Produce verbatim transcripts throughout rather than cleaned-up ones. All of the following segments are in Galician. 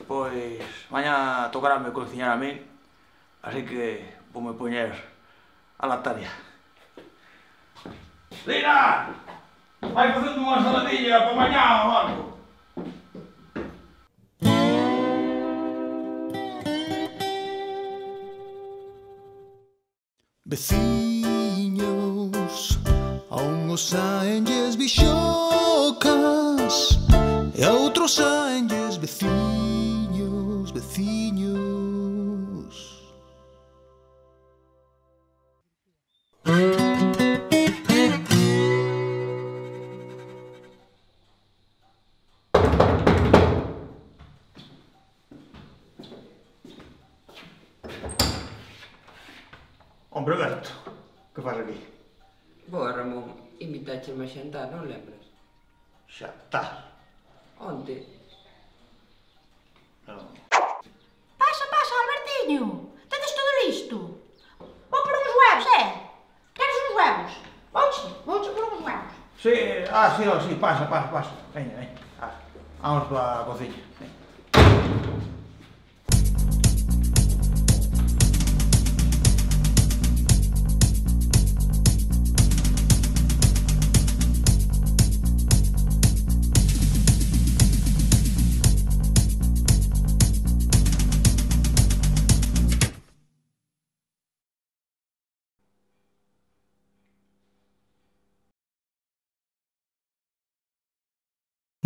Pois mañá tocarame cociñar a min, así que voume poñer a la tarea. Lina! Vai facendo unha saladilla para mañá ou algo? Veciños, a unhos saenlles bixocas e a outros saenlles veciños, veciños. Hombre, Berto, que faz aquí? Boa, Ramón, invitaxeme a xantar, non lembras? Xantar? Onte? Non. Pasa, pasa, Albertiño. Tedes todo listo. Vou por uns huevos, eh? Queres uns huevos? Vouche, vouche por uns huevos. Sí, ah, sí, oh, sí, pasa, pasa, pasa. Veña, veña. Ah, vamos para a cociña. Veña.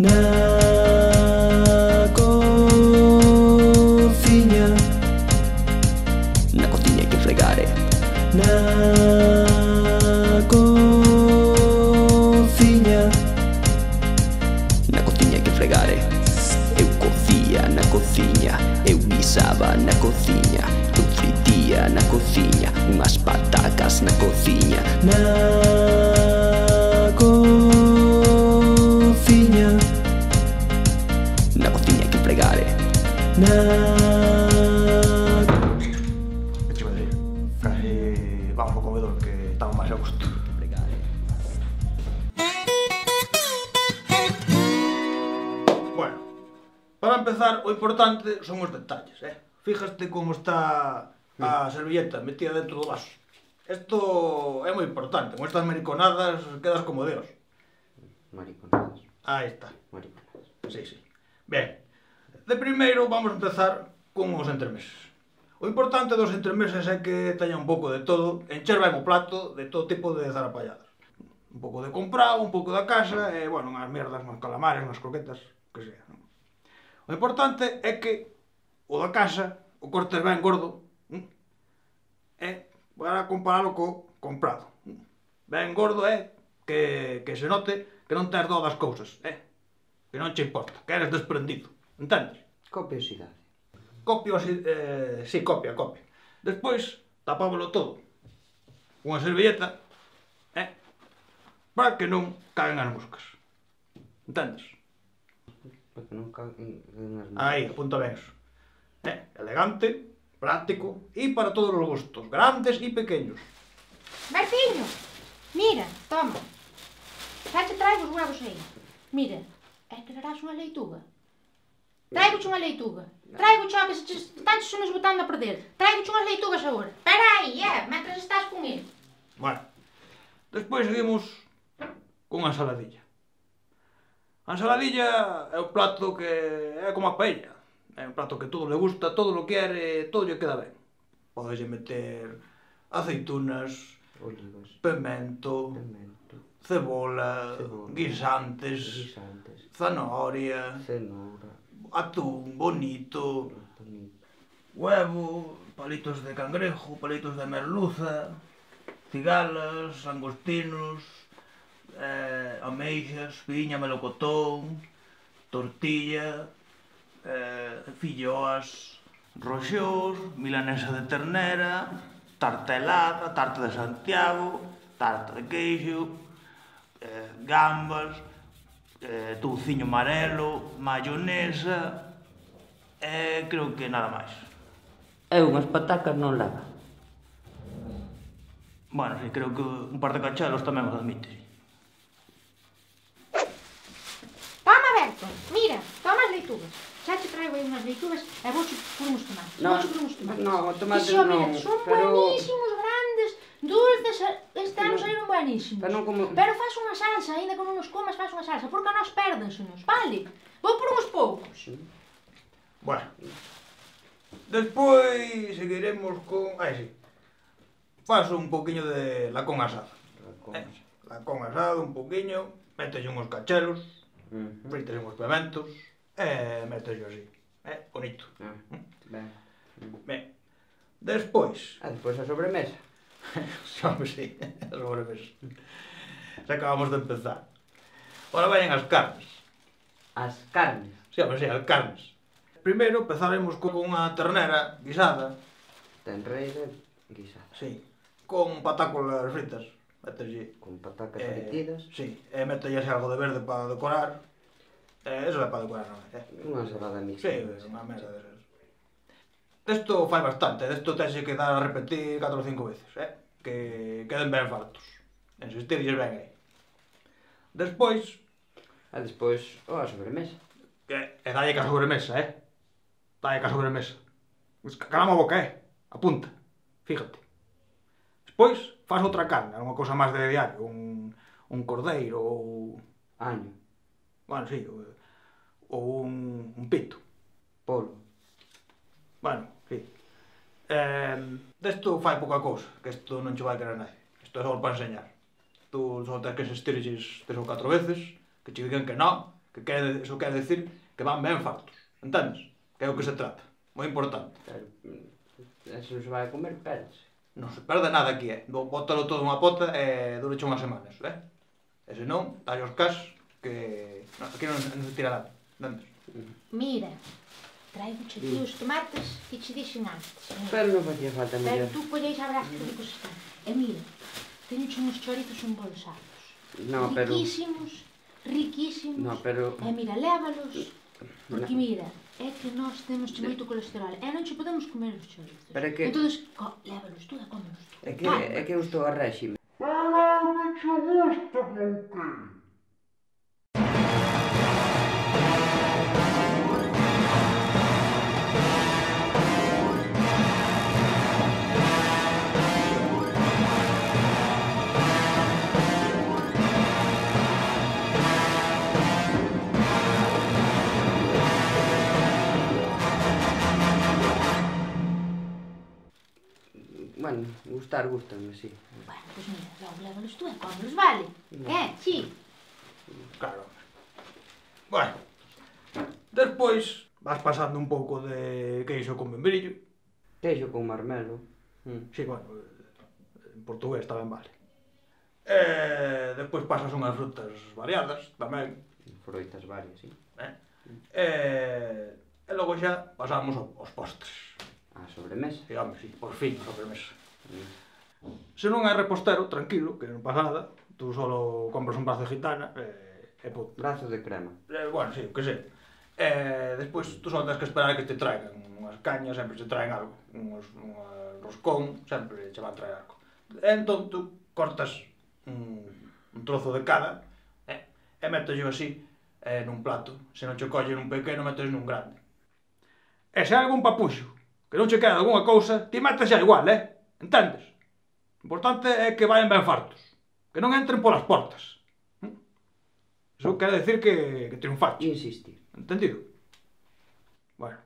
Na cociña, na cociña hai que fregar, eh? Na cociña, na cociña hai que fregar, eh? Eu cocía na cociña, eu guisaba na cociña, eu fritía na cociña, unhas patacas na cociña. Na cociña, na cociña hai que fregar, eh? Na... Que che vai dir? Casi vamos ao comedor que estamos máis a gusto. Bueno, para empezar, o importante son os detalles, eh? Fíjaste como está a servilleta metida dentro do vaso. Isto é moi importante, con estas mariconadas quedas como Deus. Mariconadas. Aí está. Mariconadas. Sí, sí. Ben, de primeiro vamos a empezar con os entremeses. O importante dos entremeses é que teña un pouco de todo, encher ben o plato de todo tipo de zarapalladas. Un pouco de comprado, un pouco da casa, e, bueno, unhas merdas, uns calamares, unhas croquetas, que sea. O importante é que o da casa o cortes ben gordo, e para comparalo co comprado. Ben gordo é que, que se note que non tes dó das cousas, eh? Que non che importa, que eres desprendido, entendes? Copiosidade. Copio así, eh, sí, copia, copia. Despois, tapámoslo todo. Unha servilleta, eh? Para que non caguen as moscas. Entendes? Para que non caguen as moscas. Aí, apunta ben eso. Eh? Elegante, práctico e para todos os gustos, grandes e pequeños. Bertiño, mira, toma. Xa te traigo os huevos aí. Mira, é que darás unha leituga. Traigo-te unha leituga. Traigo-te que se te están se nos botando a perder. Traigo-te unhas leitugas agora. Espera aí, eh, mentras estás con ele. Bueno, despois seguimos con a ensaladilla. A ensaladilla é un plato que é como a paella. É un plato que todo le gusta, todo lo quere, todo lle queda ben. Podeslle meter aceitunas, Olivas. pemento, Pimento. cebola, Cebola. guisantes, Guisantes. zanahoria, Cenoura. atún bonito, Bonito. huevo, palitos de cangrejo, palitos de merluza, cigalas, angostinos, eh, ameixas, piña, melocotón, tortilla, eh, filloas, roxós, milanesa de ternera, tarta helada, tarta de Santiago, tarta de queixo, eh, gambas, eh, touciño amarelo, mayonesa, e eh, creo que nada máis. E unhas patacas non leva. Bueno, sí, creo que un par de cachelos tamén os admite. Toma, Berto, mira, toma as leitugas. xa te traigo aí unhas leitugas e vouche por uns tomates. No, Vouche por uns tomates. no, tomates Ixo, non, mira, son pero- buenísimos, grandes, dulces, este ano saíron buenísimos. Pero non como- Pero faz unha salsa, ainda que non nos comas, faz unha salsa, porque a nós pérdensenos, vale? Vou por uns poucos. Bueno. Despois seguiremos con... Ai, sí. Faso un poquinho de lacón asado. Lacón Eh, lacón asado, un poquinho, mételle uns cacheros, Mhm. frites uns pimentos, e mételle así. Eh, bonito. Ah, ben. Ben. Despois... Ah, despois a sobremesa. Xa me sei, a sobremesa. Xa acabamos de empezar. Ora vayan as carnes. As carnes. Xa me sei, as carnes. Primeiro empezaremos con unha ternera guisada, Ten reira guisada. sí, con patácolas fritas. Mételle... Con patacas Eh, fritidas. sí, e mételle así algo de verde para decorar. Eh, eso é para decorar, non é? Eh. Unha ensalada mixta. Sí, unha mesa desas. Desto fai bastante, desto tense que dar a repetir catro ou cinco veces, eh? Que queden ben fartos. Insistirlles ben aí. Despois, Ah, despois, oh, a sobremesa. que, e dalle ca sobremesa, eh? Dalle ca sobremesa. Pues, calama a boca, eh? Apunta, fíjate. Despois, faz outra carne, unha cousa máis de diario, un, un cordeiro ou... Año. Bueno, sí, ou, ou un, un pito. Polo. Bueno, sí. Eh, desto fai pouca cousa, que isto non che vai querer nadie. Isto é só para enseñar. Tú só tens que insistirlles tres ou catro veces, que che digan que non, que quere, eso quere decir que van ben fartos. Entendes? Que é o que se trata. Moi importante. Pero, mm, eso se vai a comer, pérese. Non se perde nada aquí, eh? Bótalo todo unha pota e dureche unhas semanas, eh? E se non, dalle os cas, que... No, aquí non, non se tira nada. Entendes? Mira, traigo che aquí os tomates que che dixen antes. Mira. Pero non facía falta, Pero mellor. tú colleis a brás que ricos están. E mira, teño uns chorizos embolsados. No, pero... Riquísimos, riquísimos. No, pero... E mira, lévalos. Porque mira, é que nós temos che moito colesterol e non che podemos comer os chorizos. Pero é que- Entonces, co, lévalos tú e cómelos tú. É que, Calma. é que eu estou a réxime. Bueno, gustar, gustan, sí. Bueno, pois mira, logo lévalos tú e cómelos, vale? Eh, sí. Claro. Bueno. Despois, vas pasando un pouco de queixo con membrillo. Queixo con marmelo. Mm. Sí, bueno, en portugués tamén vale. E despois pasas unhas frutas variadas tamén. Froitas varias, sí. Eh? E, e logo xa pasamos ao- aos postres. A sobremesa. Sí, home, sí, por fin, a sobremesa. Mm. Se non é repostero, tranquilo, que non pasa nada. Tú solo compras un brazo de gitana e, e punto. Brazo de crema. Eh, bueno, sí, o que sei. Eh, despois tú só tens que esperar a que te traigan unhas cañas, sempre te traen algo. Uns, un roscón, sempre che van traer algo. E entón tú cortas un, un trozo de cada eh, e metes así eh, nun plato. Se non che colle nun pequeno, metes nun grande. E se hai algún papuxo que non che queda algunha cousa, ti metes xa igual, eh? Entendes? O importante é que vayan ben fartos. Que non entren polas portas. ¿Mm? Iso quere decir que, que triunfaste. Insistir. Entendido? Bueno.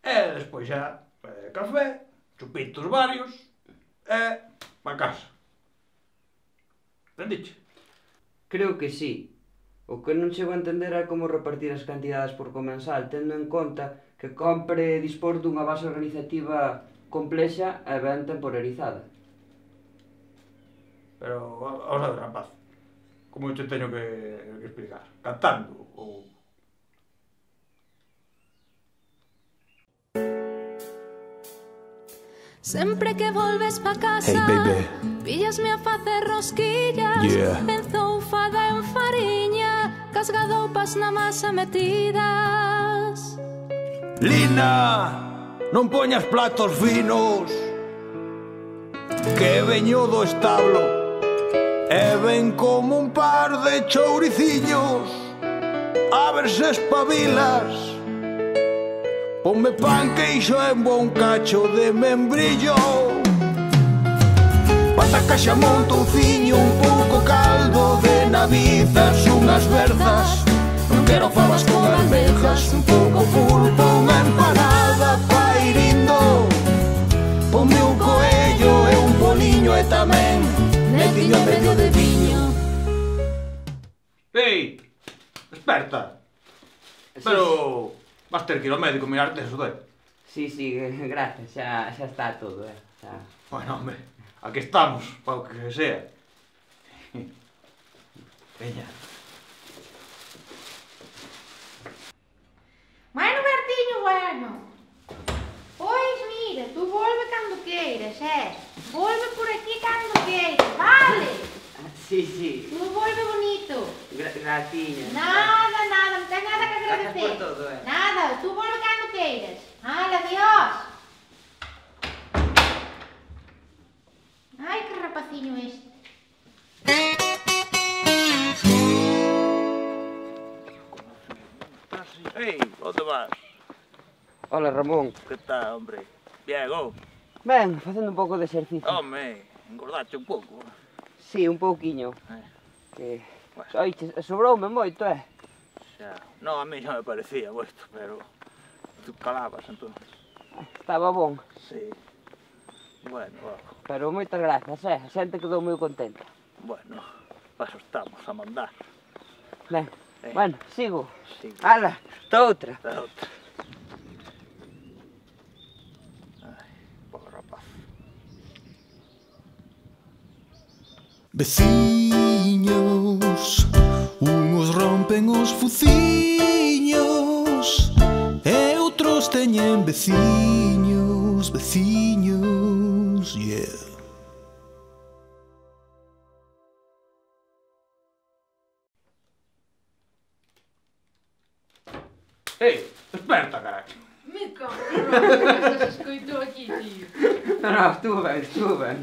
E despois xa eh, café, chupitos varios e pa casa. Entendiche? Creo que sí. O que non chego a entender é como repartir as cantidades por comensal, tendo en conta que compre dispor dunha base organizativa complexa e ben temporarizada. Pero, va- vamos a ver, rapaz. Como eu te teño que, que explicar? Cantando ou... Sempre que volves pa casa, Hey, baby. píllasme a facer rosquillas, Yeah. enzoufada en fariña, casgadoupas na masa metidas. Lina, non poñas platos finos, que veño do establo e ven como un par de chouriciños. A ver se espabilas. Ponme pan, queixo e un bon cacho de membrillo, pataca, xamón, touciño, un pouco caldo de navizas, unhas verzas. Non quero fabas con almejas, un pouco pulpo, unha empanada pairindo. Ponme un coello e un boliño e tamén netiño en medio de viño. Ei, desperta. Pero vas ter que ir ao médico a mirarte eso, doi. Sí, sí, gracias, xa, xa está todo, eh. Xa... Bueno, hombre, aquí estamos, para o que sea. Veña. Bueno, Bertiño, bueno. Pois mira, tú volve cando queiras, eh? Volve por aquí cando queiras, vale? Sí, sí. Tú volve bonito. Gra graciña. Nada, nada, non ten nada que agradecer. Gracias por todo, eh. Nada, tú volve cando queiras. Hala, adiós. Ai, que rapaciño este. Ei, onde vas? Hola, Ramón. Que tal, hombre? Bien, oh. Ben, facendo un pouco de exercicio. Home, engordaste un pouco. Sí, un pouquiño. Eh, Que... Bueno. Oiche, sobroume moito, eh? xa. No, a mí xa me parecía moito, pero... Tú calabas, entón. Estaba bon. Sí. Bueno, oh. Pero moitas grazas, eh? A xente quedou moi contenta. Bueno, paso estamos a mandar. Ben, Eh. bueno, sigo. Sí. Ala, ta outra. Da outra. Ai, pobre rapaz. Veciños, unos rompen os fuciños e outros teñen veciños, veciños, yeah. Ei, desperta, carajo. Me cago, non se escoitou aquí, tío. No, no, estuvo ben, estuvo ben.